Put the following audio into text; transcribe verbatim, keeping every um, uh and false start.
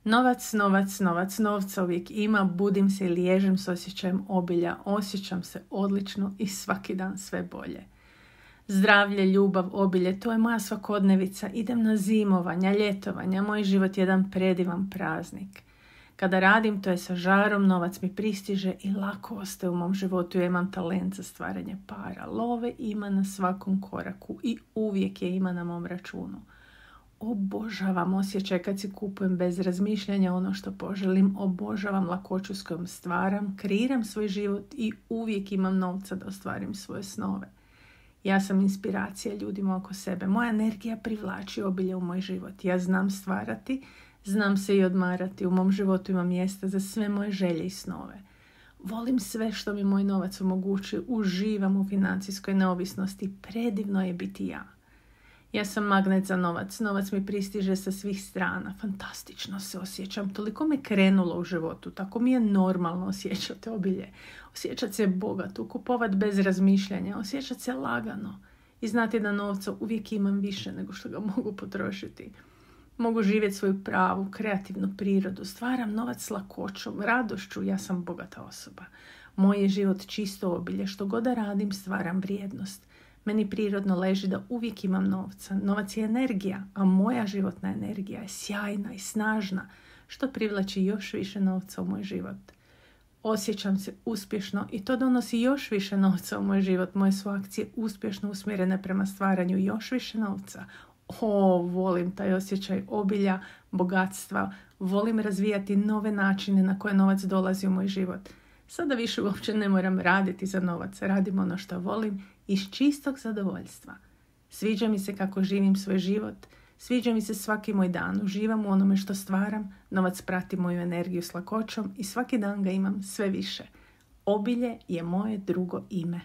Novac, novac, novac, novca uvijek ima, budim se i liježem s osjećajem obilja, osjećam se odlično i svaki dan sve bolje. Zdravlje, ljubav, obilje, to je moja svakodnevica, idem na zimovanja, ljetovanja, moj život je jedan predivan praznik. Kada radim, to je sa žarom, novac mi pristiže i lako ostaje u mom životu, ja imam talent za stvaranje para. Love ima na svakom koraku i uvijek je ima na mom računu. Obožavam osjećaj kad si kupujem bez razmišljanja ono što poželim, obožavam lakoću s kojom stvaram, kreiram svoj život i uvijek imam novca da ostvarim svoje snove. Ja sam inspiracija ljudima oko sebe, moja energija privlači obilje u moj život, ja znam stvarati, znam se i odmarati, u mom životu ima mjesta za sve moje želje i snove. Volim sve što mi moj novac omogućuje, uživam u financijskoj neovisnosti, predivno je biti ja. Ja sam magnet za novac, novac mi pristiže sa svih strana, fantastično se osjećam, toliko me krenulo u životu, tako mi je normalno osjećati obilje, osjećati se bogato, kupovati bez razmišljanja, osjećati se lagano i znati da novca uvijek imam više nego što ga mogu potrošiti. Mogu živjeti svoju pravu, kreativnu prirodu, stvaram novac s lakoćom, radošću, ja sam bogata osoba. Moj je život čisto obilje, što god da radim stvaram vrijednost. Meni prirodno leži da uvijek imam novca. Novac je energija, a moja životna energija je sjajna i snažna, što privlači još više novca u moj život. Osjećam se uspješno i to donosi još više novca u moj život. Moje su akcije uspješno usmjerene prema stvaranju još više novca. O, volim taj osjećaj obilja, bogatstva, volim razvijati nove načine na koje novac dolazi u moj život. Sada više uopće ne moram raditi za novac, radim ono što volim iz čistog zadovoljstva. Sviđa mi se kako živim svoj život, sviđa mi se svaki moj dan, uživam u onome što stvaram, novac prati moju energiju s lakoćom i svaki dan ga imam sve više. Obilje je moje drugo ime.